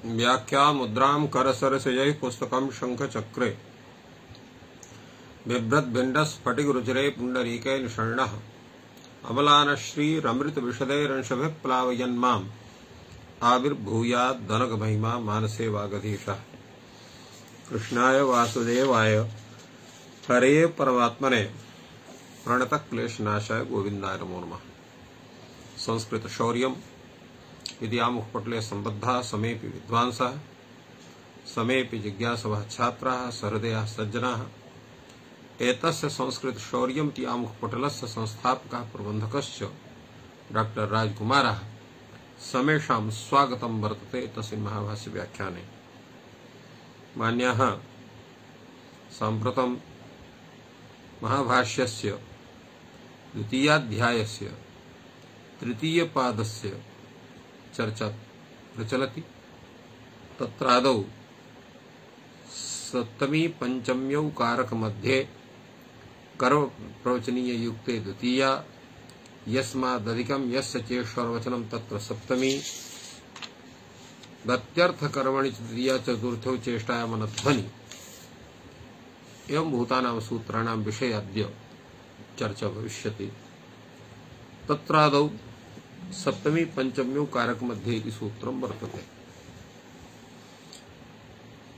व्याख्या मुद्रां करसरसयैः पुस्तकं शङ्खचक्रे बिभ्रद्भिण्डस्फटिकरुचिरे पुण्डरीके निषण्णः अमलानश्रीरमृतविशदैरंशभिः प्लावयन्माम् आविर्भूयाद्दनकमहिमा मानसे वागधीशः। कृष्णाय वासुदेवाय हरे परमात्मने प्रणतक्लेशनाशाय गोविन्दाय नमो नमः। संस्कृत शौर्यम् इति आमुखपटले सम्बद्धाः समेऽपि विद्वांसः समेऽपि जिज्ञासवः छात्राः सहृदयाः सज्जनाः एतस्य संस्कृत शौर्यम् इति आमुखपटलस्य संस्थापकः प्रबन्धकश्च डॉक्टर राजकुमारः समेषां स्वागतं वर्तते तस्मिन् महाभाष्य व्याख्याने। मान्याः, साम्प्रतं महाभाष्यस्य द्वितीयाध्यायस्य तृतीयपादस्य चर्चा प्रचलति। तत्रादौ सप्तमी पंचम्यौ कारक मध्ये कर्म प्रवचनीय युक्ते द्वितीया यस्मादधिकं यस्य चेष्वरवचनं तत्र सप्तमी गत्यर्थ कर्मणि तृतीया चतुर्थौ चेष्टायामनध्वनि एवं भूतानां सूत्राणां विषये अद्य चर्चा भविष्यति। तत्रादौ सप्तमी पंचम्यौ कारक मध्ये इति सूत्रं वर्तते।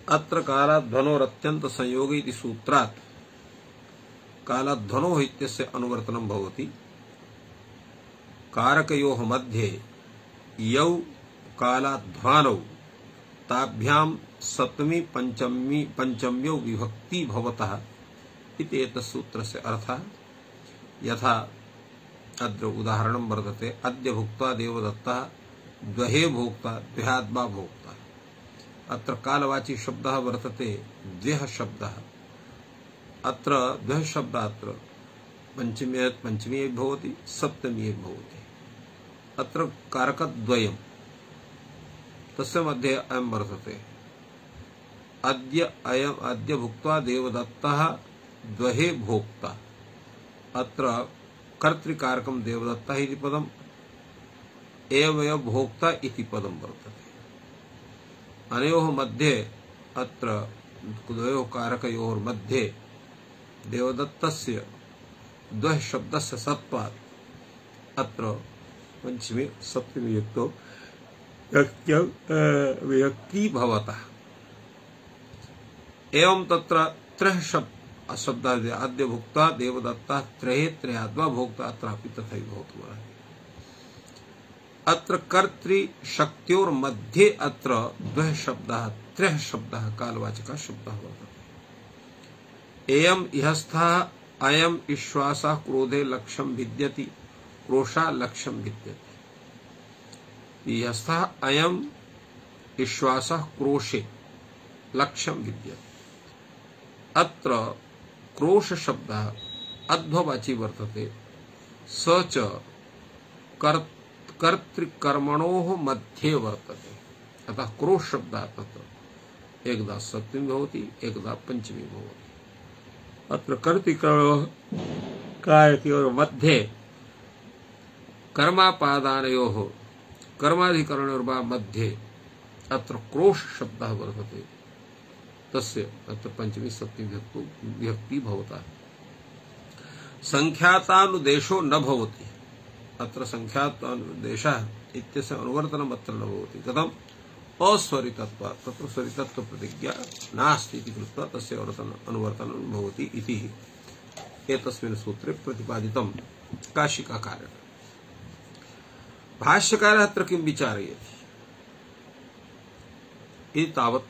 अत्र कालाध्वनोरत्यन्त संयोगे इति सूत्रात् कालाध्वनोः इत्यस्य अनुवर्तनं भवति। कारकयोः मध्ये यौ कालाध्वानौ ताभ्यां सप्तमी पंचम्यौ विभक्ति भवतः इति एतस्य सूत्रस्य अर्थः। यथा अत्र उदाहरणं वर्तते, अद्य भुक्त्वा देवदत्तः द्वहे भोक्ता द्व्याद्वा भोक्ता। अत्र कालवाची शब्दः वर्तते द्व्यः शब्दः। अत्र द्वः शब्दः अत्र पंचमी भवति सप्तमी भवति। अत्र कारकद्वयं तस्य मध्ये अयं वर्तते, अद्य भुक्त्वा देवदत्तः द्वहे भोक्ता। अत्र कर्तृकारकं देवदत्तः इति पदम् एवमेव भोक्ता इति पदं वर्तते। अनयोः मध्ये अत्र द्वयोः कारकयोः मध्ये देवदत्तस्य द्वः शब्दस्य सत्त्वात् अत्र पंचमी सप्तमी युक्तो विभक्ति भवतः। एवं तत्र त्रयः शब्दाः अद्य भुक्ता देवदत्तः त्रये त्रयाद्वा भोक्ता अत्रापि तथैव भवितुमर्हति। अत्र कर्तृशक्त्योर्मध्ये अत्र द्वः शब्दाः त्रयः शब्दाः कालवाचकः शब्दः वर्तते। एयम् इहस्थः अयम् विश्वासः क्रोधे लक्ष्यं विद्यति क्रोशा लक्ष्यं विद्यति। इहस्थः अयम् विश्वासः क्रोशे लक्ष्यं विद्यति। अत्र क्रोश शब्दः अध्ववाची वर्तते। स च कर्तृकर्मणोः मध्ये वर्तते। अतः क्रोश शब्दः तत्र एकदा सप्तमी भवति एकदा पंचमी भवति। अत्र कर्तृकर्मयोः मध्ये कर्मापादानयोः कर्माधिकरणयोर्वा मध्ये अत्र क्रोश शब्दः वर्तते। तस्य अत्र पंचमी सप्तमी विभक्ति भवता। संख्यातानुदेशो न भवति। अत्र संख्यातानुदेशः इत्यस्य अनुवर्तनम् अत्र न भवति। कथम्? अस्वरितत्वात्। तत्र स्वरितत्व प्रतिज्ञा नास्ति इति कृत्वा तस्य अनुवर्तनं भवति इति एतस्मिन् सूत्रे प्रतिपादितं काशिकाकारेण। भाष्यकारः अत्र किं विचारयति इति तावत्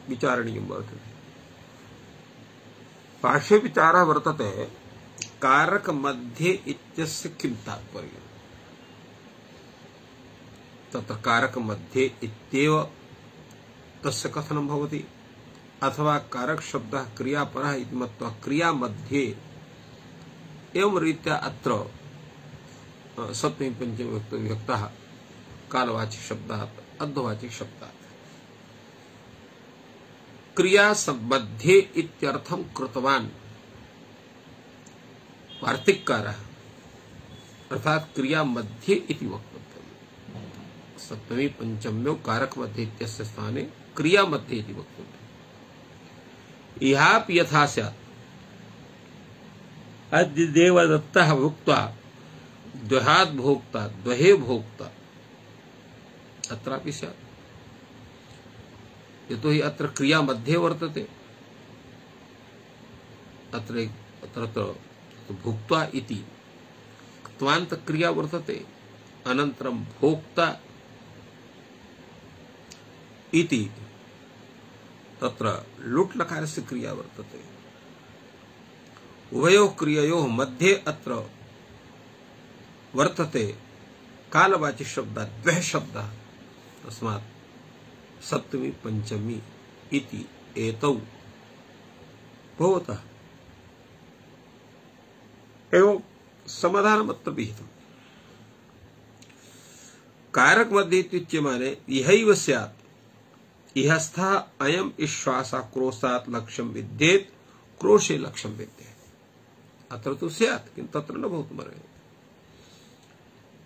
विचारणीयं वर्तते। भाष्ये विचारः वर्तते, कारक मध्ये इत्यस्य किं तात्पर्यम्? तत्र कारक मध्ये इत्येव तस्य कथनं भवति, अथवा कारक शब्दः क्रियापरः इति मत्वा क्रिया मध्ये एवं रीत्या अत्र सप्तमी पंचमी विभक्तः कालवाची शब्दात् अध्ववाची शब्दात् क्रिया मध्ये इत्यर्थं कृतवान् वार्तिककारः, अर्थात क्रिया मध्ये इति वक्तव्यम्। सप्तमी पंचम्यो कारक मध्ये इत्यस्य स्थाने क्रिया मध्ये इति वक्तव्यम्। इहापि यथा स्यात् अद्य देवदत्तः भुक्त्वा द्वयाद् भोक्ता द्वये भोक्ता अत्रापि स्यात्, यतोहि अत्र क्रिया मध्ये वर्तते। अत्र भुक्त्वा इति क्त्वान्त क्रिया वर्तते, अनन्तरं भोक्ता इति तत्र लुट् लकारस्य क्रिया वर्तते। उभयोः क्रिययोः मध्ये अत्र वर्तते कालवाची शब्दः द्वः शब्दः, तस्मात् सप्तमी पंचमी इति एतौ भवतः एवं समाधानमत्र विहितम्। कारक मध्ये इत्युच्यमाने इहैव स्यात्, इहस्थः अयम् इश्वासः क्रोशात् लक्ष्यं विद्येत्, क्रोशे लक्ष्यं विद्येत्। अत्र तु स्यात्, किन्तु तत्र न भवितुमर्हति।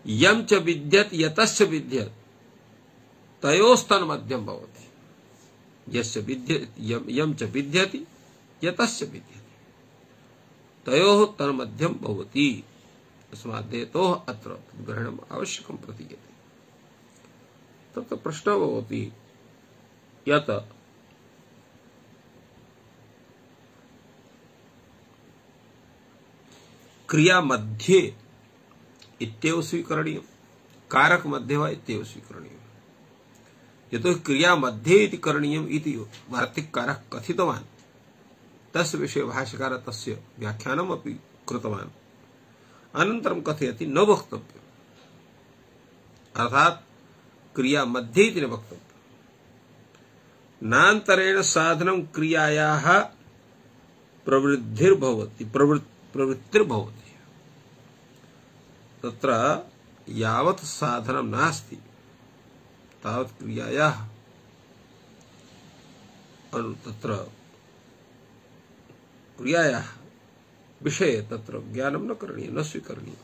यं च विद्यत् यतश्च विद्यत् तयोस्तन्मध्यं भवति। यस्य यं च विद्यति यतश्च विद्यति तयोः तन्मध्यं भवति। तस्मात् हेतोः अत्र ग्रहणम् आवश्यकं प्रतीयते। तत्र प्रश्नः भवति यत् क्रिया मध्ये इत्येव स्वीकरणीयं, कारक मध्ये वा इत्येव स्वीकरणीयं। यतोहि क्रिया मध्ये इति करणीयम् इति वार्तिककारः कथितवान्, तस्य विषये भाष्यकारः तस्य व्याख्यानमपि कृतवान्। अनन्तरं कथयति न वक्तव्यम्, अर्थात् क्रिया मध्ये इति न वक्तव्यम्। नान्तरेण साधनं क्रियायाः प्रवृत्तिर्भवति। तत्र यावत् साधनं नास्ति तावत् क्रियायाः तत्र क्रियायाः विषये तत्र ज्ञानं न करणीयं, न स्वीकरणीयं।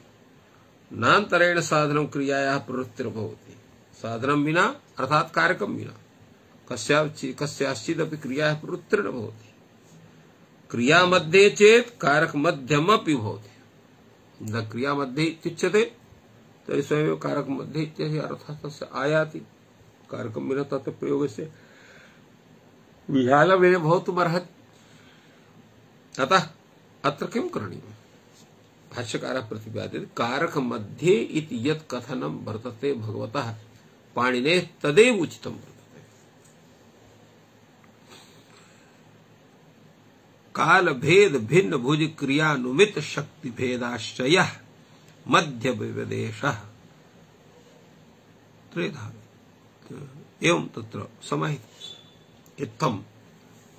नान्तरेण साधनं क्रियायाः प्रवृत्तिर्भवति। साधनं विना अर्थात् कारकं विना कस्याश्चिदपि क्रियायाः प्रवृत्तिर्न भवति। क्रिया मध्ये चेत् कारक मध्यमपि भवति। न क्रिया मध्ये इत्युच्यते तर्हि स्वयमेव कारक मध्ये इत्यस्य अर्थः तस्य आयाति। कारकं विना तत्र प्रयोगस्य विहालमेव भवितुमर्हति। अतः अत्र किं करणीयम्? भाष्यकारः प्रतिपादयति कारक मध्ये इति यत् कथनं वर्तते भगवतः पाणिनेः तदेव उचितं वर्तते। काल भेद भिन्न भुज क्रियानुमित शक्ति भेदाश्रयः मध्य विवदेशः त्रेधा एवं तत्र समाहितम्। इत्थं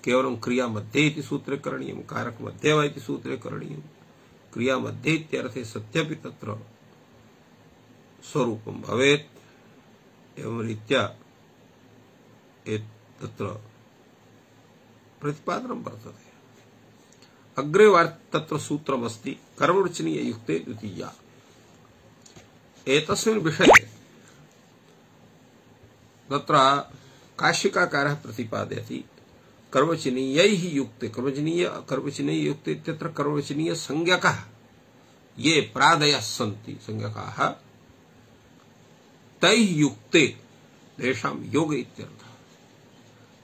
केवलं क्रिया मध्ये इति सूत्रे करणीयं, कारक मध्ये वा इति सूत्रे करणीयं। क्रिया मध्ये इत्यर्थे सत्यपि तत्र स्वरूपं भवेत्। एवं रीत्या तत्र प्रतिपादनं वर्तते। अग्रे तत्र सूत्रमस्ति कर्मवचनीय युक्ते द्वितीया। एतस्मिन् विषये तत्र काशिकाकारः प्रतिपादयति कर्मवचनीयैः युक्ते। कर्मवचनीय युक्ते इत्यत्र कर्मवचनीय संज्ञकः ये प्रादयः सन्ति संज्ञकाः तैः युक्ते तेषां योग इत्यर्थः।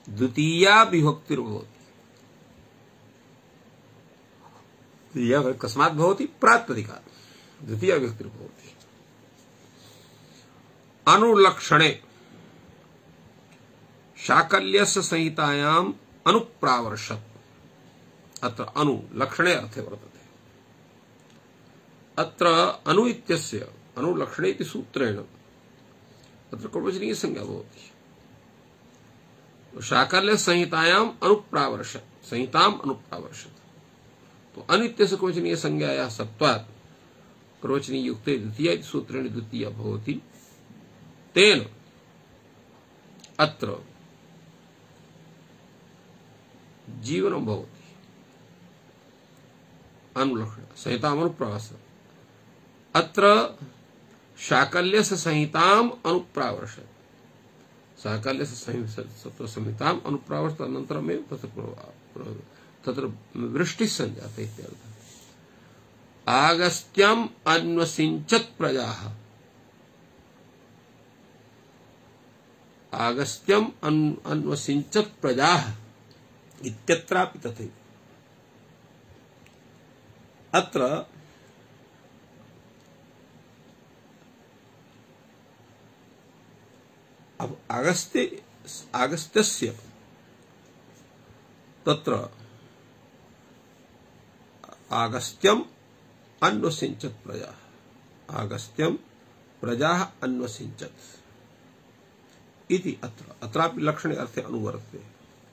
द्वितीया विभक्तिर्भवति। कस्मात् भवति? प्रातिपदिकात्। द्वितीया विभक्तिर्भवति। अनुलक्षणे शाकल्यस्य संहितायाम् अनुप्रावर्षत्। अत्र अनु लक्षणे अर्थे वर्तते। अत्र अनु इत्यस्य अनुलक्षणे इति सूत्रेण अत्र कर्मवचनीय संज्ञा भवति। शाकल्य संहितायाम् अनुप्रावर्षत्, संहिताम् अनुप्रावर्षत्। तो अनित्यस्य कर्मवचनीय संज्ञायाः सत्त्वात् कर्मवचनीय युक्ते द्वितीया इति सूत्रेण द्वितीया भवति। तेन अत्र जीवनं भवति। अनुलक्षण संहितामनुप्रावर्षत्। अत्र शाकल्यस्य संहिताम् अनुप्रावर्षत्। शाकल्यस्य संहिताम् अनुप्रावर्षत् अनन्तरमेव तत्र वृष्टिः सञ्जाता इत्यर्थः। आगस्त्यम् अन्वसिञ्चत् प्रजाः। आगस्त्यम् अन्वसिञ्चत् प्रजाः इत्यत्रापि तथैव। अत्र अब आगस्त्यस्य तत्र आगस्त्यम् अन्वसिञ्चत् प्रजाः। आगस्त्यम् प्रजाः अन्वसिञ्चत् इति अत्रापि लक्षणे अर्थे अनुवर्तते।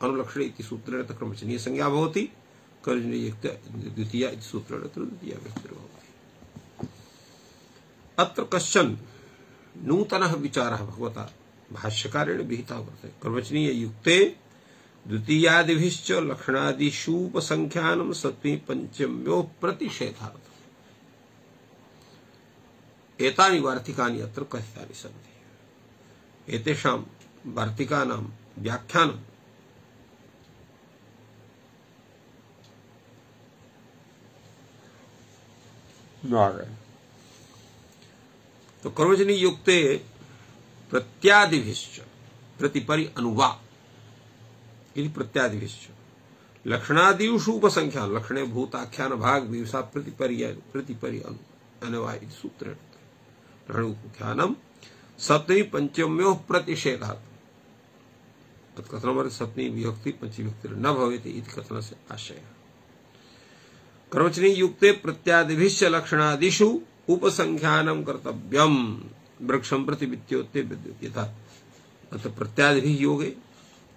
अनुलक्षणे इति सूत्रेण क्रमवचनीय संज्ञा भवति। कर्मजनियुक्त द्वितीया इति सूत्रेण द्वितीया व्यक्तिर्भवति। अत्र कश्चन नूतनः विचारः भगवता भाष्यकारेण विहितः वर्तते। कर्मवचनीय युक्ते द्वितीयादिभिश्च लक्षणादिषूपसंख्यानं सप्तमी पंचम्यो प्रतिषेधार्थम्। एतानि वार्तिकानि अत्र कथितानि सन्ति। एतेषां वार्तिकानां व्याख्यानं तो कर्मजनी युक्ते प्रत्यादिभिश्च प्रतिपरि अनुवा इति प्रत्यादिभिश्च लक्षणादिषु उपसंख्यान लक्षणे भूताख्यान भाग विवसा प्रतिपरि अनुवा इति सूत्रेण लक्षणोपख्यानं सप्तमी पंचम्यो प्रतिषेधात्। तत्कथनमर्थे सप्तमी विभक्ति पंचमी विभक्ति न भवेत् इति कथनस्य आशयः। कर्मवचनी युक्ते प्रत्यादिभिश्च लक्षणादिषु उपसंख्यानं कर्तव्यम् वृक्षं प्रति विद्योते विद्युत्। यथा अत्र प्रत्यादिभिः योगे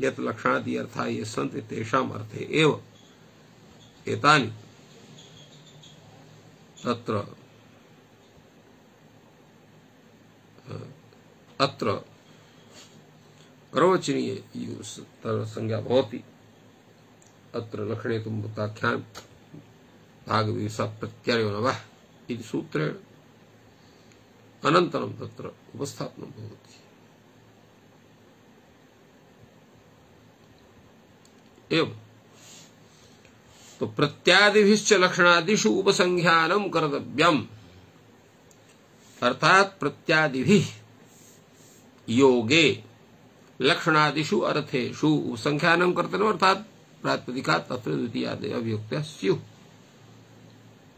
यत् लक्षणादि अर्थाः ये सन्ति तेषाम् अर्थे एव एतानि तत्र अत्र कर्मवचनीय संज्ञा भवति। अत्र लक्षणे तु भूताख्यान भाग विवसा प्रत्ययो नवः इति सूत्रेण अनन्तरं तत्र उपस्थापनं भवति। एवं तो प्रत्यादिभिश्च लक्षणादिषु उपसंख्यानं कर्तव्यम् अर्थात प्रत्यादिभिः योगे लक्षणादिषु अर्थेषु उपसंख्यानं कर्तव्यम् अर्थात प्रातिपदिकात् तत्र द्वितीयादयः अभियुक्तः स्युः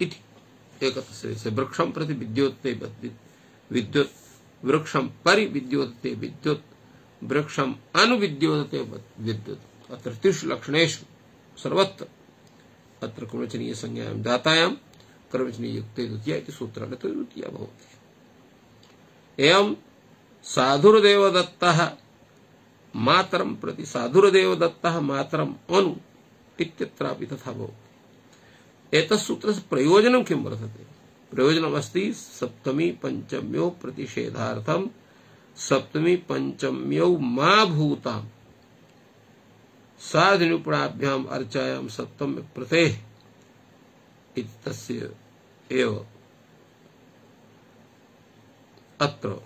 इति। एकत्र वृक्षं प्रति विद्योते विद्युत् वृक्षं परि विद्योते विद्युत् वृक्षं अनुविद्योते विद्युत्। अत्र त्रिषु लक्षणेषु सर्वत्र अत्र कर्मवचनीय संज्ञायां जातायां कर्मवचनीय युक्ते द्वितीया इति सूत्रेण द्वितीया भवति। एवं साधुर्देवदत्तः मातरं प्रति साधुर्देवदत्तः मातरम् अनु इत्यत्रापि तथा भवति। एतत् सूत्रस्य प्रयोजनं किं वर्तते? प्रयोजनमस्ति सप्तमी पंचम्यो प्रतिषेधार्थं सप्तमी पंचम्यो मा भूताम् साधुनिपुणाभ्याम अर्चायां सप्तम प्रतेः इति तस्य एव अत्र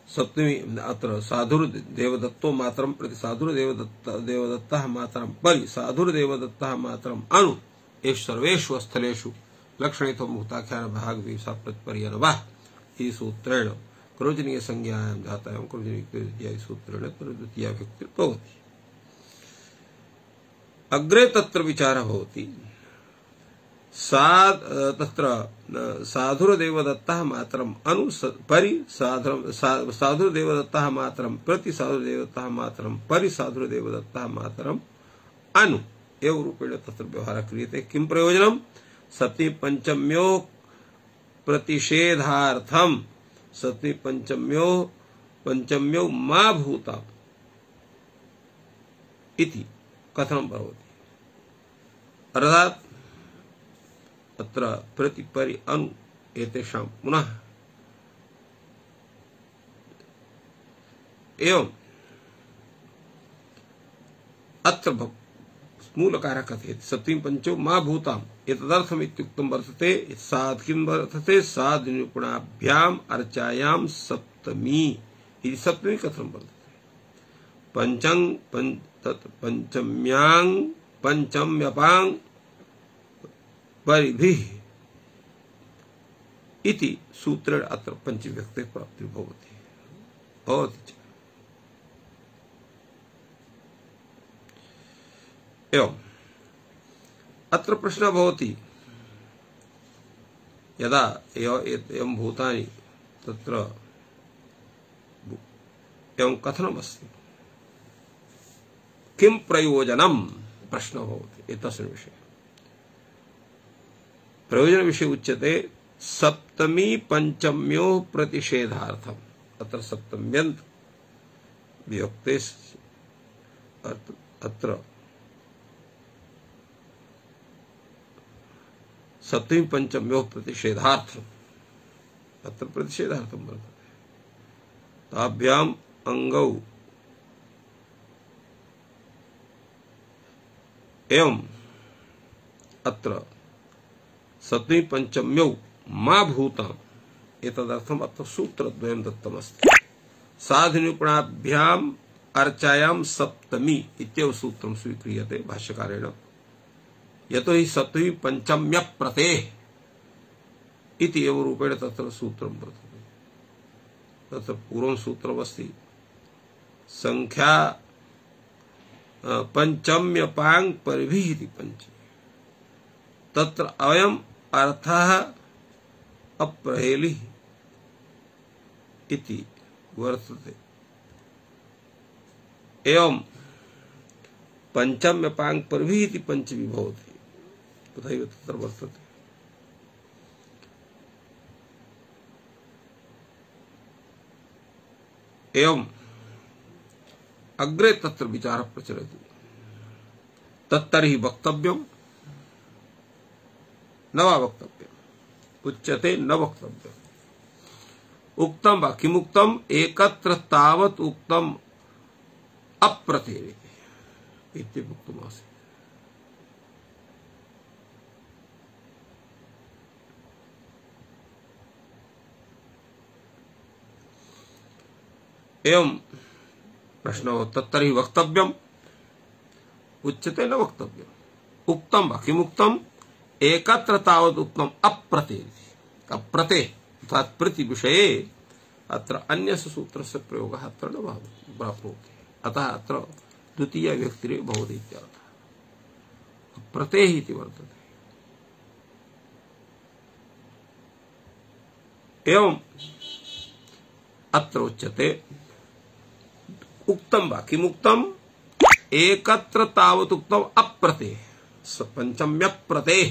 सप्तमी अत्र साधुर्देवदत्तो मातरं प्रति साधुर्देवदत्तः मातरं परि साधुर्देवदत्तः मातरम् अनु एषु सर्वेषु स्थलेषु लक्षणेतो भूताख्यान भाग विवसा प्रतिपर्यनवः इति सूत्रेण कर्मवचनीय संज्ञायां जातायां कर्मवचनीय सूत्रेण द्वितीया विभक्तिर्भवति। अग्रे तत्र विचारः भवति तत्र साधुर्देवदत्तः मातरम् अनु परि साधुर्देवदत्तः मातरं प्रति साधुर्देवदत्तः मातरं परि साधुर्देवदत्तः मातरम् अनु एवं रूपेण तत्र व्यवहारः क्रियते। किं प्रयोजनं? सप्तमी पंचम्यो प्रतिषेधार्थं सप्तमी पंचम्यो मा भूताम् इति कथनं भवति। अर्थात् अत्र प्रतिपरि अनु एतेषां पुनः एवं अत्र मूलकारः कथयति सप्तमी पंचो मा भूताम् एतदर्थम् इत्युक्तं वर्तते सात् किं वर्तते साधुनिपुणाभ्याम् अर्चायां सप्तमी इति सप्तमी कथं वर्तते पंचम्यां पंचम्यपां परिभिः इति सूत्रेण अत्र पंचविभक्तेः प्राप्तिर्भवति भवति च। एवं अत्र प्रश्नः भवति यदा एवं भूतानि तत्र एवं कथनमस्ति किं प्रयोजनम् प्रश्नः भवति एतस्मिन् विषये प्रयोजन विषय उच्यते सप्तमी पंचम्योः प्रतिषेधार्थम् अत्र सप्तम्यन्त विभक्ते अत्र सप्तमी पंचम्योः प्रतिषेधार्थम् अत्र प्रतिषेधार्थं वर्तते ताभ्याम् अंगौ एवं अत्र सप्तमी पंचम्यौ मा भूताम् एतदर्थम् अत्र सूत्रद्वयं दत्तमस्ति साधुनिपुणाभ्याम् अर्चायां सप्तमी इत्येव सूत्रं स्वीक्रियते भाष्यकारेण यतो हि सप्तमी पंचम्य प्रतेः इति एव रूपेण तत्र सूत्रं वर्तते तत्र पूर्वं सूत्रमस्ति संख्या पंचम्यपां परिभिः इति पंचमी तत्र अयम् अर्थः अप्रहेलिः इति वर्तते एवं पंचम्यपां परिभिः इति पंचमी भवति तथैव तत्र वर्तते एवं अग्रे तत्र विचारः प्रचलति तत्तर्हि वक्तव्यम् न वा वक्तव्यम् उच्यते न वक्तव्यम् उक्तं वा किमुक्तम् एकत्र तावत् उक्तम् अप्रतेरे इति उक्तमासीत् एवं प्रश्नो तत्तर्हि वक्तव्यम् उच्यते न वक्तव्यम् उक्तं वा किमुक्तम् एकत्र तावत् उक्तम् अप्रतेः अर्थात् प्रति विषये अत्र अन्यस्य सूत्रस्य प्रयोगः अत्र न प्राप्नोति अतः अत्र द्वितीया विभक्तिरेव भवति इत्यर्थः प्रतेः इति वर्तते एवं अत्र उच्यते उक्तं वा किमुक्तम् एकत्र तावत् उक्तम् अप्रतेः पंचम्यप्रतेः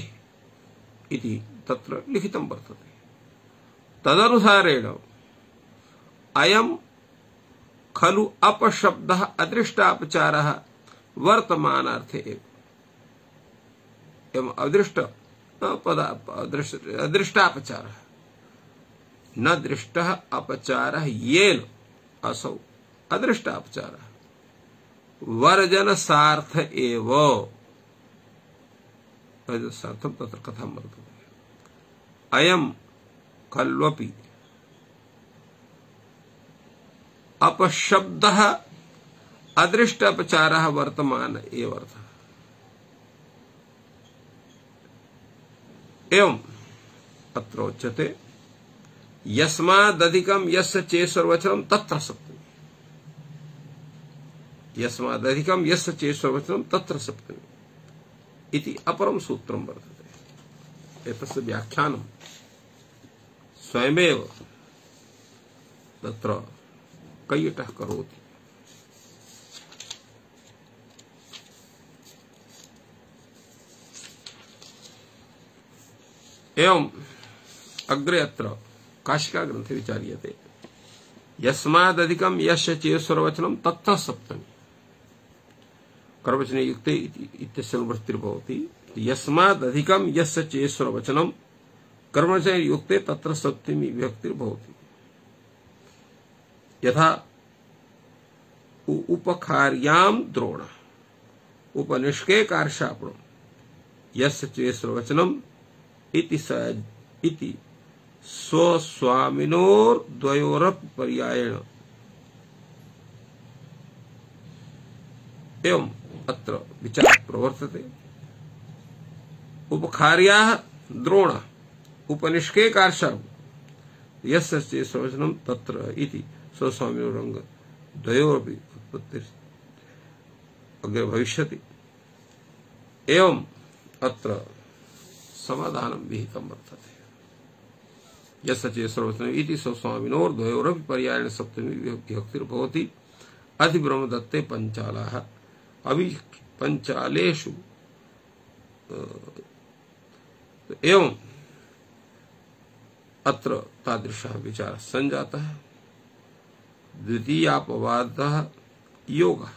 इति तत्र लिखितं वर्तते तदनुसारेण अयं खलु अपशब्दः अदृष्टापचारः वर्तमानार्थे एव एवं अदृष्टापचारः न दृष्टः अपचारः येन असौ अदृष्टापचारः वर्जनसार्थ एव वर्जनसार्थं तत्र कथं वर्तते अयं खल्वपि अपशब्दः अदृष्टापचारः वर्तमान एव अर्थः एवं अत्र उच्यते यस्मादधिकं यस्य चेश्वरवचनं तत्र सप्तमी यस्मादधिकं यस्य चेश्वरवचनं तत्र सप्तमी इति अपरं सूत्रं वर्तते एतस्य व्याख्यानं स्वयमेव तत्र कैयटः करोति एवं अग्रे अत्र काशिका ग्रंथे विचार्यते यस्मादधिकं यस्य चेश्वरवचनं तत्र सप्तमी कर्मवचने युक्ते इत्यस्य अनुवृत्तिर्भवति यस्मादधिकं यस्य चेश्वरवचनं कर्मवचने युक्ते तत्र सप्तमी विभक्तिर्भवति यथा उपकार्यां द्रोण उपनिष्के कार्षापणम् यस्य चेश्वरवचनम् इति स्वस्वामिनोर्द्वयोरपि पर्यायेण एवं अत्र विचारः प्रवर्तते। उपखार्याः द्रोण उपनिष्के कार्षापणम् यस्य चेश्वरवचनम् तत्र इति स्वस्वामिनोरंग द्वयोरपि उत्पत्तिः अग्रे भविष्यति। एवं अत्र समाधानं विहितं वर्तते। यस्य चेश्वरवचनम् इति स्वस्वामिनोर्द्वयोरपि पर्यायेण सप्तमी विभक्तिर्भवति। अधिब्रह्मदत्ते पञ्चालाः अभि पञ्चालेषु एवं अत्र तादृशः विचारः सञ्जातः। द्वितीयापवादः योगः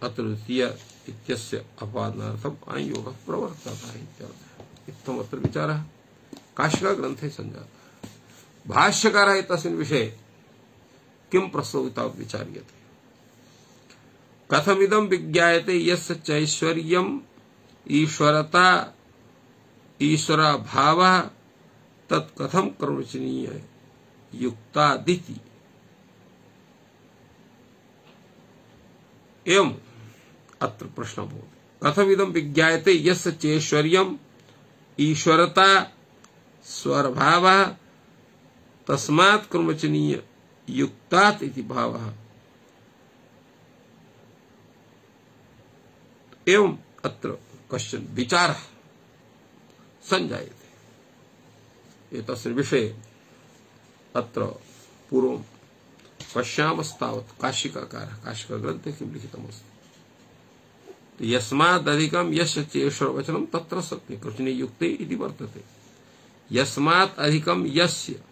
अत्र द्वितीय इत्यस्य अपवादनार्थम् अयोगः प्रवर्ततः इत्यर्थः। इत्थमत्र विचारः काशिका ग्रन्थे सञ्जातः। भाष्यकारः एतस्मिन् विषये किं प्रस्तावितं विचार्यते। कथमिदं विज्ञायते यस्य चैश्वर्यम् ईश्वरता ईश्वराभावः तत् कथं कर्मचनीय युक्तादिति। एवं अत्र प्रश्नः भवति कथमिदं विज्ञायते यस्य चैश्वर्यम् ईश्वरता स्वरभावः तस्मात् कर्मचनीय युक्तात् इति भावः। एवं अत्र कश्चन विचारः सञ्जायते। एतस्मिन् विषये अत्र पूर्वं पश्यामस्तावत् काशिकाकारः काशिकाग्रन्थे किं लिखितमस्ति। यस्मादधिकं यस्य चेश्वरवचनं तत्र सत्य कृष्णे युक्ते इति वर्तते। यस्मात् अधिकं यस्य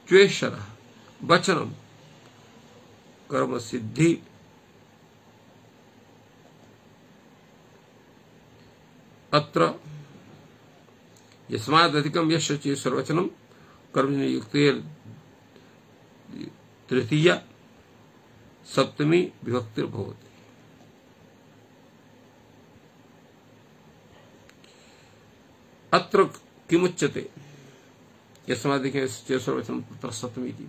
चेश्वरः वचनं कर्मसिद्धि अत्र यस्मादधिकं यस्य चेश्वरवचनं कर्मणि युक्ते तृतीय सप्तमी विभक्तिर्भवति। अत्र किमुच्यते यस्मादधिकं चेश्वरवचनं तत्र सप्तमी इति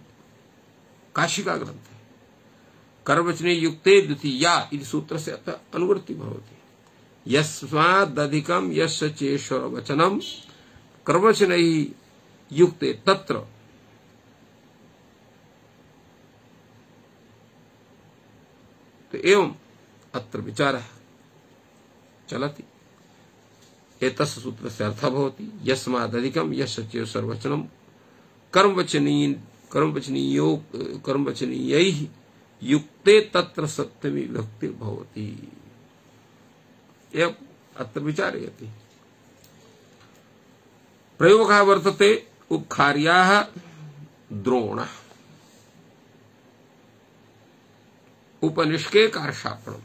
काशिका ग्रन्थे कर्मवचने युक्ते द्वितीया इति सूत्रस्य अत्र अनुवृत्ति भवति। यस्मादधिकं यस्य चेश्वरवचनं कर्मवचनैः युक्ते तत्र तो एवं अत्र विचारः चलति। एतस्य सूत्रस्य अर्थः भवति यस्मादधिकं यस्य चेश्वरवचनं कर्मवचनीयैः युक्ते तत्र सप्तमी विभक्तिर्भवति। एवं अत्र विचारयति। प्रयोगः वर्तते उपखार्याः द्रोणः उपनिष्के कार्षापणम्।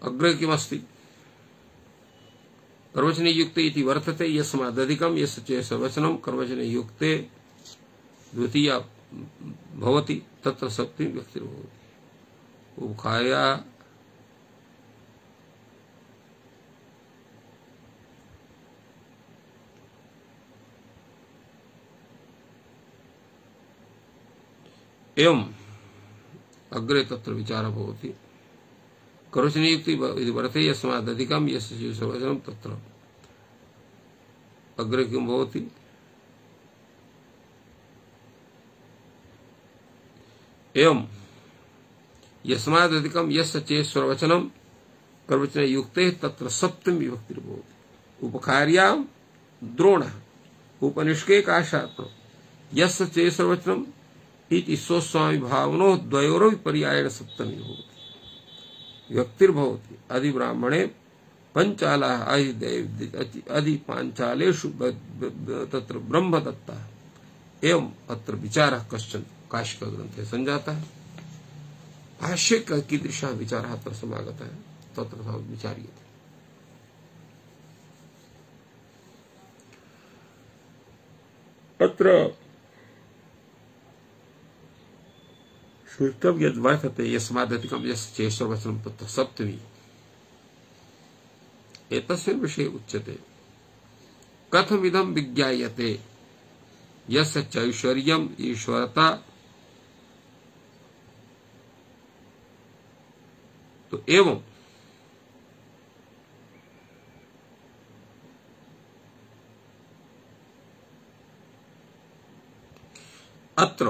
अग्रे किमस्ति कर्मवचने युक्ते इति वर्तते। यस्मादधिकं यस्य चेश्वरवचनं कर्मवचने युक्ते द्वितीया भवति तत्र सप्तमी विभक्तिर्भवति। उपखार्या एवं अग्रे तत्र विचारः भवति कर्मवचने युक्ते इति वर्तते। यस्मादधिकं यस्य चेश्वरवचनं तत्र अग्रे किं भवति एवं यस्मादधिकं यस्य चेश्वरवचनं कर्मवचने युक्ते तत्र सप्तमी विभक्तिर्भवति। उपखार्यां द्रोणः उपनिष्के कार्षापणम् यस्य चेश्वरवचनं इति स्वस्वामी भावनोः द्वयोरपि पर्यायेण सप्तमी भवति विभक्तिर्भवति। अधिब्राह्मणे पञ्चालाः अधिपाञ्चालेषु तत्र ब्रह्मदत्तः। एवं अत्र विचारः कश्चन काशिका ग्रन्थे सञ्जातः। भाष्ये कीदृशः विचारः अत्र समागतः तत्र विचार्यते। अत्र श्रुतम् यद्वर्तते यस्मादधिकं यस्य चेष्वरवचनं तत्र सप्तमी एतस्मिन् विषये उच्यते कथमिदं विज्ञायते यस्य चैश्वर्यम् ईश्वरता। तो एवं अत्र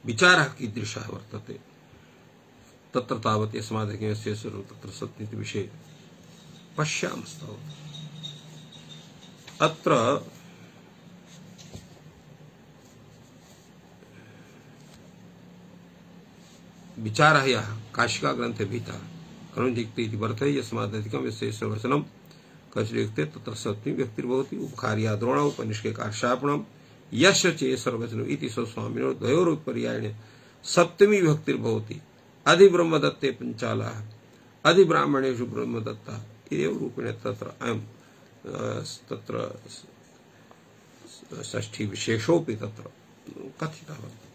विचारः कीदृशः वर्तते तत्र तावत् यस्मादधिकस्य तत्र सत्नीति विषये पश्यामस्तावत्। अत्र विचारः यः काशिका ग्रन्थे भीतः करुणजिक्ते इति वर्तते यस्मादधिकं यस्य वचनं कचयुक्ते तत्र सप्तमी व्यक्तिर्भवति उपकार्याद्रोण उपनिष्के कार्षापणम् यस्य चेसर्वचनम् इति स्वस्वामिनो द्वयोरुपर्यायेण सप्तमी विभक्तिर्भवति अधिब्रह्मदत्ते पंचालाः अधिब्राह्मणेषु ब्रह्मदत्ता एव रूपेण तत्र अयं तत्र षष्ठी विशेषोऽपि तत्र कथितः वर्तते।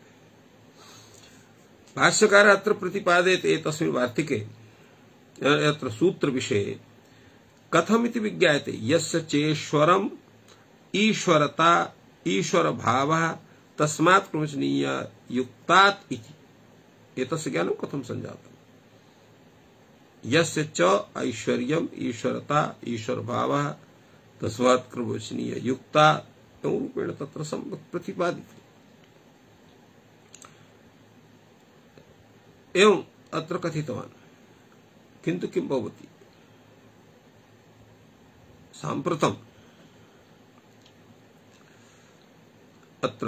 भाष्यकारः अत्र प्रतिपादयति एतस्मिन् वार्तिके अत्र सूत्र विषये कथमिति विज्ञायते यस्य चेश्वरम् ईश्वरता ईश्वर भावः तस्मात् प्रवचनीय युक्तात् इति एतस्य ज्ञानं कथं संजातम्। यस्य च ऐश्वर्यम् ईश्वरता ईश्वर भावः तस्मात् प्रवचनीय युक्ता रूपेण तत्र प्रतिपादितम्। एवं अत्र कथितवान् किन्तु किं भवति साम्प्रतम् अत्र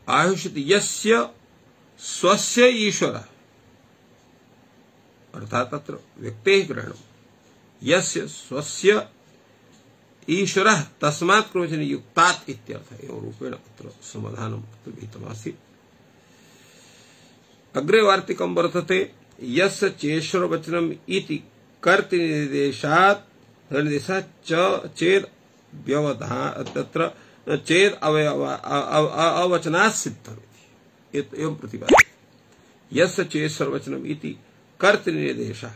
आयुष्यति यस्य स्वस्य ईश्वरः अर्थात अत्र व्यक्तेः ग्रहणम् यस्य स्वस्य ईश्वरः तस्मात् प्रवचने युक्तात् इत्यर्थः एवं रूपेण अत्र समाधानम् अत्र विहितमासीत्। अग्रे वार्तिकं वर्तते यस्य चेश्वरवचनम् इति कर्तृनिर्देशात् चेद व्यवधान तत्र चेद अवचनात् सिद्धम् एवं प्रतिपाद्यते। यस्य चेश्वरवचनम् इति कर्तृनिर्देशः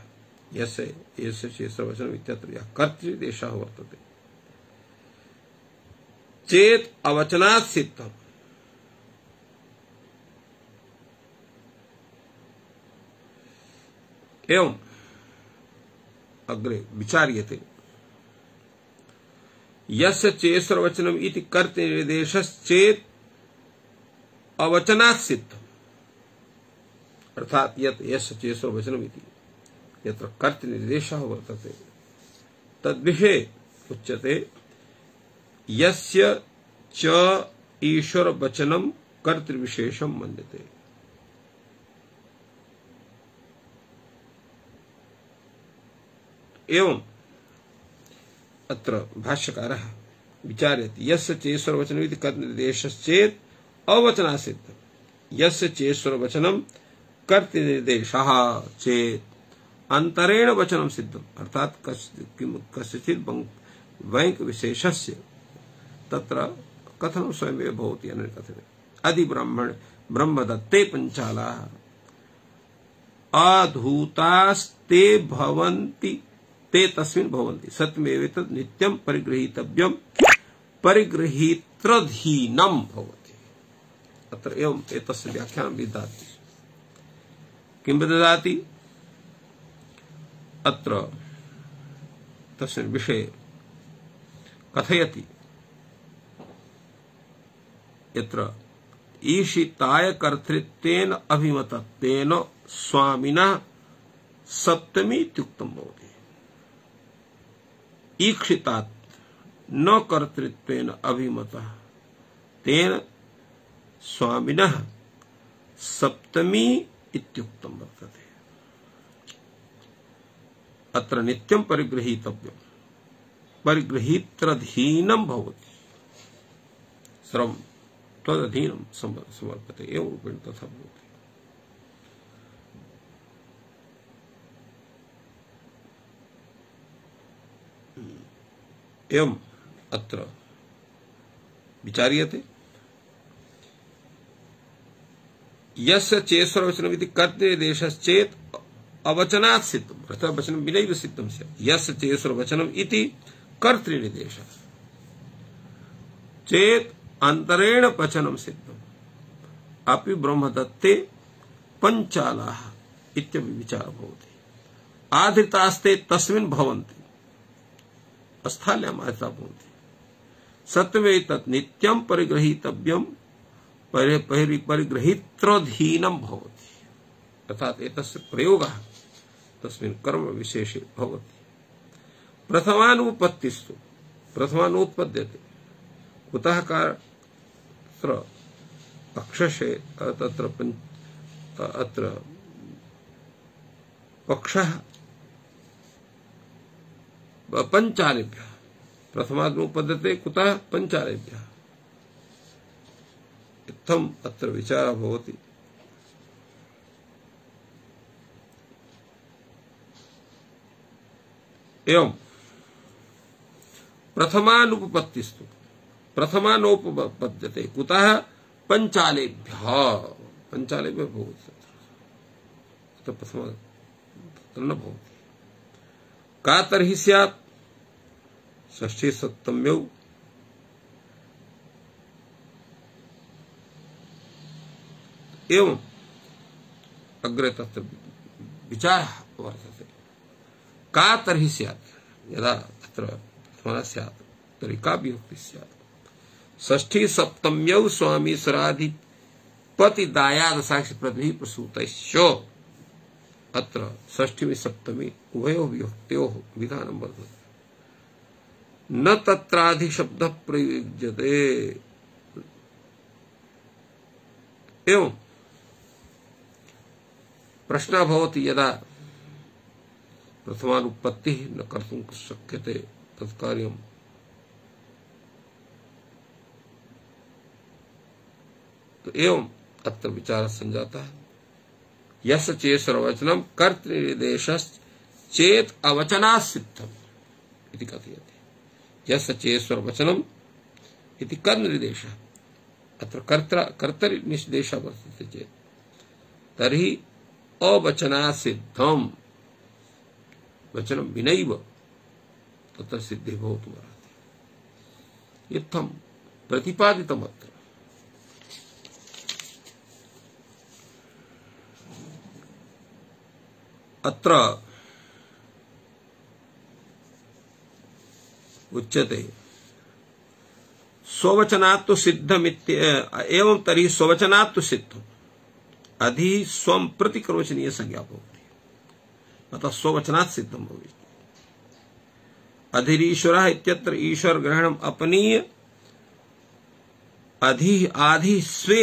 यस्य चेश्वरवचनम् इत्यत्र यः कर्तृनिर्देशः वर्तते चेत अवचनात् सिद्धम् एवं अग्रे विचार्यते यस्य चेश्वरवचनम् इति कर्तृनिर्देशश्चेत् अवचनात् सिद्धम् अर्थात यत् यस्य चेश्वरवचनम् इति यत्र कर्तृनिर्देशः वर्तते तद्विषये उच्यते यस्य च ईश्वरवचनं कर्तृविशेषं मन्यते। एवं अत्र भाष्यकारः विचारयति यस्य चेश्वरवचनम् इति कर्तृनिर्देशश्चेत् अवचनात् सिद्धम् यस्य चेश्वरवचनं कर्तृनिर्देशः चेत् अंतरेण वचनं सिद्धम् अर्थात कस्यचित् वैंक विशेषस्य तत्र कथनं स्वयमेव भवति अनकथने अधिब्राह्मण ब्रह्मदत्ते पंचालाः अधूतास्ते भवन्ति ते तस्मिन् भवन्ति सत्यमेवेतत् नित्यं परिगृहीतव्यं परिगृहीत्रधीनं भवति। अत्र एवं एतस्य व्याख्यानं विदधाति किं विदधाति अत्र तस्मिन् विषये कथयति यत्र ईशिताय कर्तृत्वेन अभिमतत्वेन स्वामिनः सप्तमी इत्युक्तं भवति ईक्षितात् न कर्तृत्वेन अभिमतः तेन स्वामिनः सप्तमी इत्युक्तं वर्तते। अत्र नित्यं परिगृहीतव्यं परिगृहीत्रधीनं भवति सर्वं तदधीनं समर्पते एवं रूपेण तथा भवति। एवं अत्र विचार्यते यस्य चेश्वरवचनमिति कर्तृनिर्देशश्चेत् अवचनात् सिद्धम्, अर्थात् वचनं विनैव सिद्धं स्यात्। यस्य चेश्वरवचनम् इति कर्तृनिर्देशः चेत् अन्तरेण वचनं सिद्धम् अपि ब्रह्मदत्ते पञ्चालाः इत्यपि विचारः भवति। आधृतास्ते तस्मिन् भवन्ति, स्थाल्याम् आधृता भवन्ति। सत्वे तत् नित्यं परिगृहीतव्यं परिगृहीत्रधीनं भवति, अर्थात् एतस्य प्रयोगः तस्मिन् कर्म विशेषे भवति। प्रथमानुपत्तिस्तु प्रथमानुत्पद्यते कुतः कार पक्षशे तत्र अत्र पक्षः पञ्चालेभ्यः प्रथमानुपद्यते कुतः पञ्चालेभ्यः इत्थम् अत्र विचारः भवति। एवं प्रथमानुपपत्तिस्तु प्रथमानोपपद्यते कुतः पञ्चालेभ्यः भवति, तत्र प्रथमा तत्र न भवति। का तर्हि स्यात् षष्ठी सप्तम्यौ एवं अग्रे तत्र विचारः वर्तते। का तर्हि स्यात्, यदा अत्र प्रथमा स्यात् तर्हि का विभक्ति स्यात्। षष्ठी सप्तम्यौ स्वामीश्वराधिपति दायाद साक्षि प्रतिभिः प्रसूतैश्च, अत्र षष्ठी सप्तमी उभयोः विभक्त्योः विधानं वर्तते। न तत्राधिशब्दः प्रयुज्यते। एवं प्रश्नः भवति यदा प्रथमानुपत्तिः न कर्तुं शक्यते तत्कार्यं तो एवं अत्र विचारः सञ्जातः। यस्य चेश्वरवचनं कर्तृनिर्देशश्चेत् अवचनात् सिद्धम् इति कथयति। यस्य चेश्वरवचनम् इति कर्तृनिर्देशः, अत्र कर्तरिनिर्देशः वर्तते चेत् तर्हि अवचनात् सिद्धम्, वचनं विनैव तत्र सिद्धिः भवितुमर्हति। इत्थं प्रतिपादितमत्र। अत्र उच्यते स्ववचनात् सिद्धमित्य एवं तर्हि स्ववचनात् सिद्धम् अधि स्वं प्रति कर्मचनीय संज्ञा भवति, अतः स्ववचनात् सिद्धं भवति। अधिरीश्वरः इत्यत्र ईश्वर ग्रहणम् अपनीय अधि आधि स्वे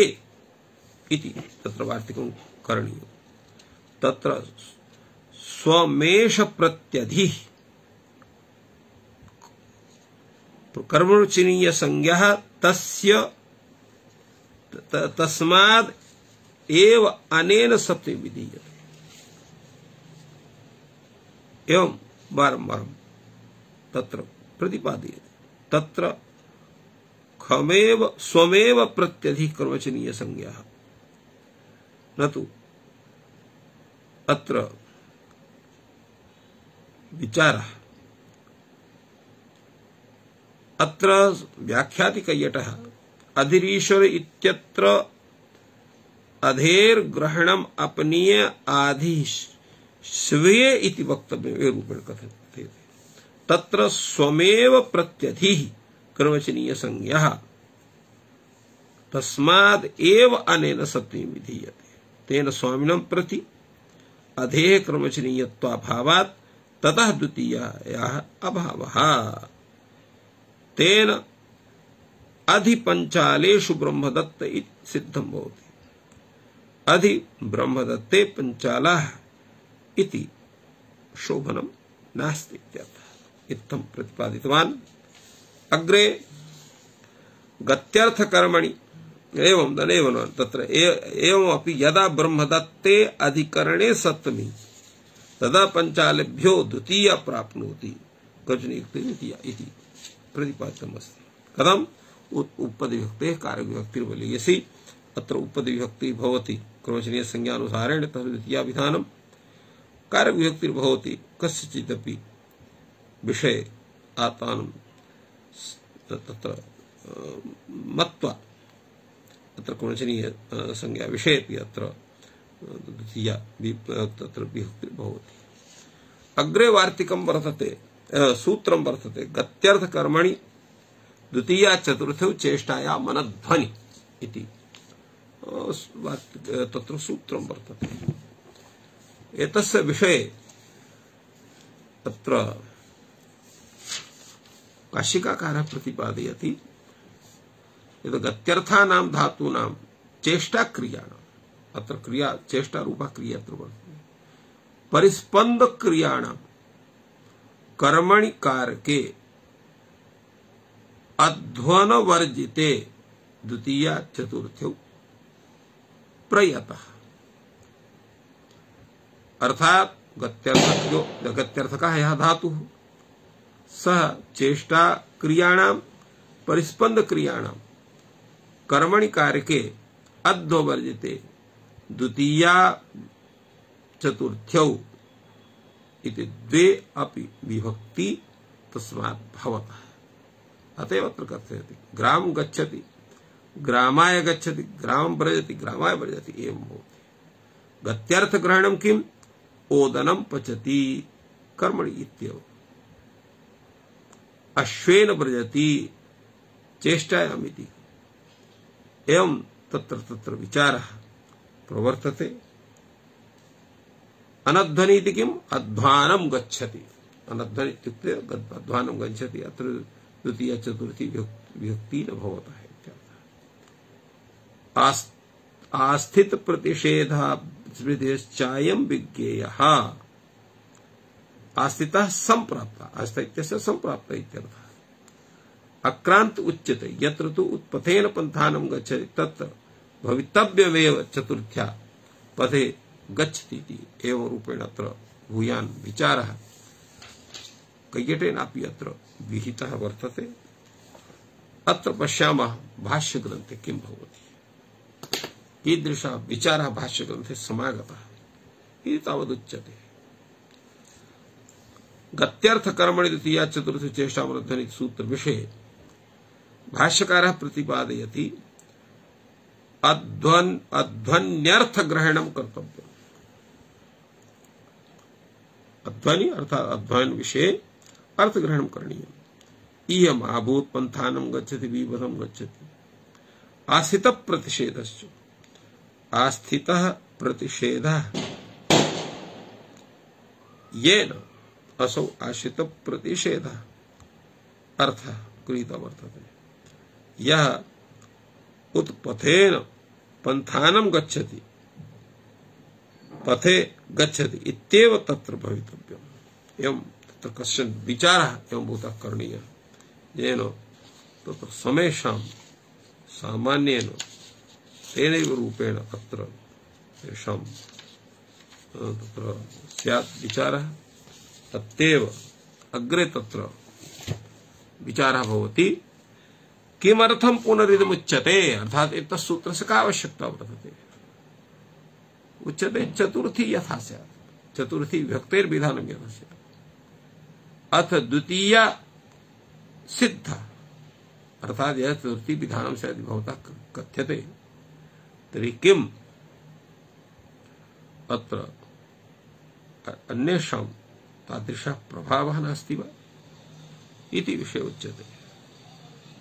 इति तत्र वार्तिकं करणीयम्। तत्र स्वमेष प्रत्यधि कर्मचनीय संज्ञा तस्य तस्माद् एव अनेन सप्तमी विधीयते। एवं बारंबार तत्र प्रतिपादयते। तत्र खमेव स्वमेव प्रत्यधि कर्मचनीय संज्ञा न तु अत्र विचारः। अत्र व्याख्यातिकयटः अधिरीश्वर इत्यत्र अधेर्ग्रहणम् अपनीय आधि स्वे इति वक्तव्यम् एवं रूपेण कथ्यते। तत्र स्वमेव प्रत्यधिः कर्मचनीय संज्ञा तस्माद् एव अनेन सप्तमी विधीयते। तेन स्वामिनं प्रति अधेः कर्मचनीयत्वाभावात् ततः द्वितीयायाः अभावः। तेन अधिपञ्चालेषु ब्रह्मदत्त इति सिद्धं भवति। अधि ब्रह्मदत्ते पञ्चालाः इति शोभनं नास्ति इत्यर्थः। इत्थं प्रतिपादितवान्। अग्रे गत्यर्थकर्मणि एवं तदेव न तत्र एवमपि यदा ब्रह्मदत्ते अधिकरणे सप्तमी तदा पंचालेभ्यो द्वितीया प्राप्नोति गजनियुक्ते द्वितीया इति प्रतिपादितमस्ति। कथम् उपपदविभक्तेः कारकविभक्तिर्वलीयसी अत्र उपपदविभक्तिः भवति क्रमचनीय संज्ञानुसारेण तस्य द्वितीया विधानम् कारकविभक्तिर्भवति कस्यचिदपि विषये आत्मानं तत्र मत्वा अत्र क्रमचनीय संज्ञा विषयेपि अत्र द्वितीया तत्र विभक्तिर्भवति। अग्रे वार्तिकं वर्तते सूत्रं वर्तते गत्यर्थकर्मणि द्वितीया चतुर्थौ चेष्टाया मनध्वनि इति तत्र सूत्रं वर्तते। एतस्य विषये तत्र काशिकाकारः प्रतिपादयति यत् गत्यर्थानां धातूनां चेष्टाक्रियाणाम् अत्र क्रिया चेष्टारूपा क्रिया अत्र वर्तते परिस्पन्दक्रियाणां कर्मणि कारके अध्वनवर्जिते द्वितीया चतुर्थौ प्रयतः अर्थात गत्यर्थकः यः धातुः सः चेष्टा क्रियाणां परिस्पन्द क्रियाणां कर्मणि कारके अध्ववर्जिते द्वितीया चतुर्थ्यौ इति द्वे अपि विभक्ति तस्मात् भवतः। अतएव अत्र कथयति ग्राम गच्छति ग्रामाय गच्छति ग्रामं व्रजति ग्रामाय व्रजति एवं भवति। गत्यर्थ ग्रहणं किम् ओदनं पचति कर्मणि इत्येव अश्वेन व्रजति चेष्टायामिति एवं तत्र तत्र विचारः प्रवर्तते। अनध्वनि इति किम् अध्वानं गच्छति अनध्वनि इत्युक्ते अध्वानं गच्छति अत्र द्वितीया चतुर्थी विभक्ति न भवतः इत्यर्थः। आस्थित प्रतिषेधास्मृतिश्चायं विज्ञेयः आस्थितः संप्राप्तः आस्था इत्यस्य संप्राप्तः इत्यर्थः। अक्रांत उच्यते यत्र तु उत्पथेन पंथानं गच्छति तत्र भवितव्यमेव चतुर्थ्या पथे गच्छति इति एवं रूपेण अत्र भूयान् विचारः कैकेटेनापि अत्र विहितः वर्तते। अत्र पश्यामः भाष्यग्रन्थे किं भवति कीदृशः विचारः भाष्यग्रन्थे समागतः इति तावदुच्यते। गत्यर्थकर्मणि द्वितीया चतुर्थी चेष्टामनध्वनि सूत्र विषये भाष्यकारः प्रतिपादयति अध्वन्यर्थ ग्रहणं कर्तव्यम्। अध्वनि अर्थात अध्वयन विषये अर्थ ग्रहणं करणीयम्। इयम् आभूत पंथानं गच्छति विपदं गच्छति आस्थित प्रतिषेधश्च आस्थितः प्रतिषेधः येन असौ आश्रित प्रतिषेधः अर्थः गृहीतः वर्तते। यः उत्पथेन पंथानं गच्छति पथे गच्छति इत्येव तत्र भवितव्यम्। एवं तत्र कश्चन विचारः एवं भूतः करणीयः येन तत्र समेषां सामान्येन तेनैव रूपेण अत्र तेषां तत्र स्यात् विचारः तत्तेव अग्रे तत्र विचारः भवति किमर्थं पुनरिदमुच्यते अर्थात एतत् सूत्रस्य का आवश्यकता वर्तते। उच्यते चतुर्थी यथा स्यात् चतुर्थी विभक्तेर्विधानं यथा स्यात् अथ द्वितीया सिद्धा अर्थात यह चतुर्थी विधानं स्यात् भवतः कथ्यते तर्हि किम् अत्र अन्येषां तादृशः प्रभावः नास्ति वा इति विषये उच्यते।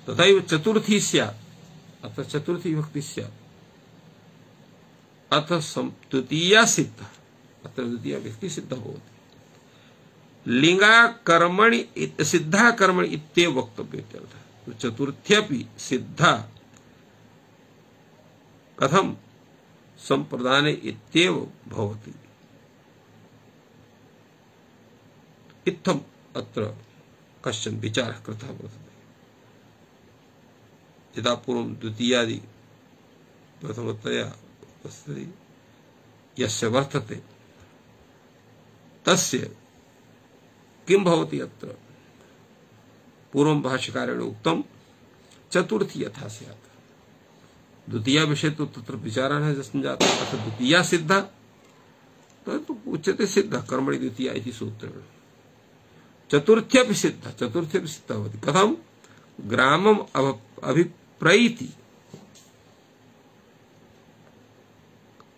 तथैव चतुर्थी स्यात् अत्र चतुर्थी विभक्ति स्यात् अथ द्वितीया सिद्धा अत्र द्वितीया विभक्ति सिद्धा भवति। लिंगा कर्मणि सिद्धा कर्मणि इत्येव वक्तव्यमित्यर्थः। चतुर्थ्यपि सिद्धा कथं संप्रदाने इत्येव भवति इत्थम् अत्र कश्चन विचारः कृतः वर्तते। यदा पूर्वं द्वितीयादि प्रथमतया यस्य वर्तते तस्य किं भवति अत्र पूर्वं भाष्यकारेण उक्तं चतुर्थी यथा स्यात् द्वितीया विषय तो तत्र विचारः न संजातः अथ द्वितीया सिद्धा तो उच्यते सिद्धा कर्मणि द्वितीया इति सूत्रेण चतुर्थ्यपि सिद्धा भवति कथं ग्रामम् अभिप्रैति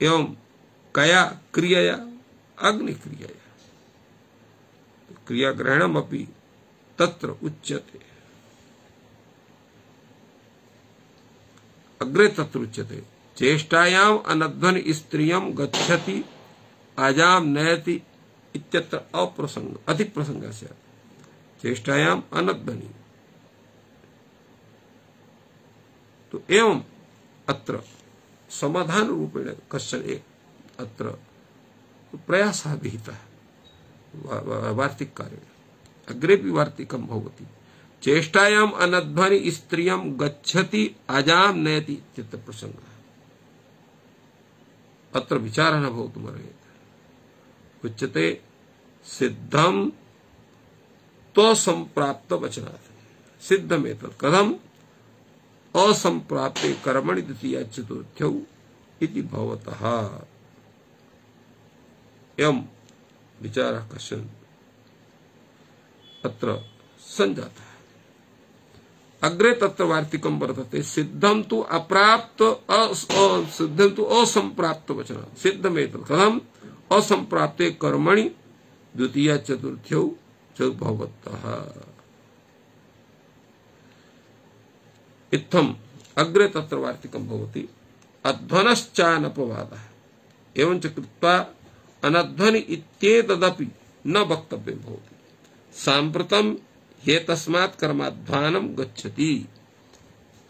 एवं कया क्रियया अग्निक्रियया क्रियाग्रहणमपि तत्र उच्यते अग्रे तत्र उच्यते चेष्टायाम् अनध्वनि स्त्रियं गच्छति आजां नयति इत्यत्र अप्रसंग अतिप्रसंगः स्यात् चेष्टायाम् अनध्वनि तो एवं अत्र समाधान रूपेण कश्चन एक अत्र प्रयासः विहितः वार्तिककारेण अग्रेपि वार्तिकं भवति चेष्टायाम् अनध्वनि स्त्रियं गच्छति अजां नयति इत्यत्र प्रसंगः अत्र विचारः न भवितुमर्हति उच्यते सिद्धं त्वसंप्राप्त वचनात् सिद्धमेतत् कथम् असंप्राप्ते कर्मणि द्वितीया चतुर्थ्यौ इति भवतः एवं विचारः कश्चन अत्र संजातः अग्रे तत्र वार्तिकं वर्तते सिद्धं तु अप्राप्त सिद्धं तु असंप्राप्त वचनात् सिद्धमेतत् कथम् असंप्राप्ते कर्मणि द्वितीया चतुर्थ्यौ च भवतः इत्थम् अग्रे तत्र वार्तिकं भवति अध्वनश्चानपवादः एवं च कृत्वा अनध्वनि इत्येतदपि न वक्तव्यं भवति साम्प्रतं ह्येतस्मात् कर्माध्वानं गच्छति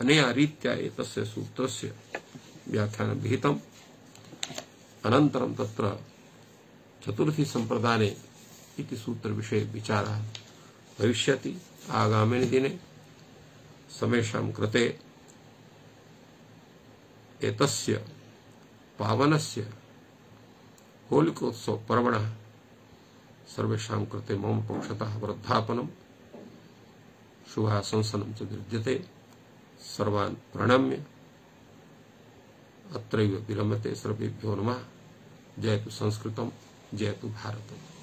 अनेन रीत्या एतस्य सूत्रस्य व्याख्यानं विहितम् अनन्तरं तत्र चतुर्थी संप्रदाने इति सूत्र विषये विचारः भविष्यति आगामिनि दिने समेषां कृते एतस्य पावनस्य होलिकोत्सव पर्वणः सर्वेषां कृते मम पक्षतः वर्धापनं शुभाशंसनं च विद्यते सर्वान् प्रणम्य अत्रैव विरमते सर्वेभ्यो नमः जयतु संस्कृतं जयतु भारतम्।